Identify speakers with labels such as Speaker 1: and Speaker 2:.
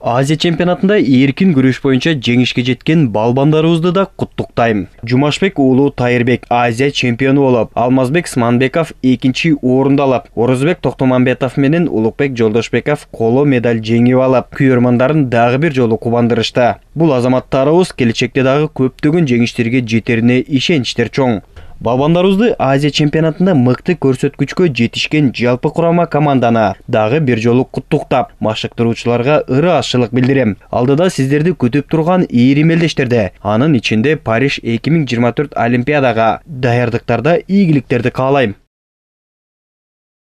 Speaker 1: Азия чемпионатында эркин күрөш боюнча жеңишке жеткен балбандарыбызды да куттуктайм. Жумашбек уулу Тайырбек Азия чемпиону болуп, Алмазбек Сманбеков экинчи орунду алып, Орозбек Токтомамбетов менен Улукбек Жолдошбеков коло медаль жеңип алып, күйөрмандарын дагы бир жолу кубандырышты. Бул азаматтарыбыз келечекте дагы көптөгөн жеңиштерге жетерине ишеничтер чоң. Балбандарыбызды Азия чемпионатында мыкты көрсөткүчкө жетишкен жалпы курама команданы дагы бир жолу куттуктап, машыктыруучуларга ырыашчылык билдирем. Алдыда сиздерди күтүп турган ийри мелдештерде, анын ичинде Париж 2024 Олимпиадага даярдыктарда ийгиликтерди каалайм.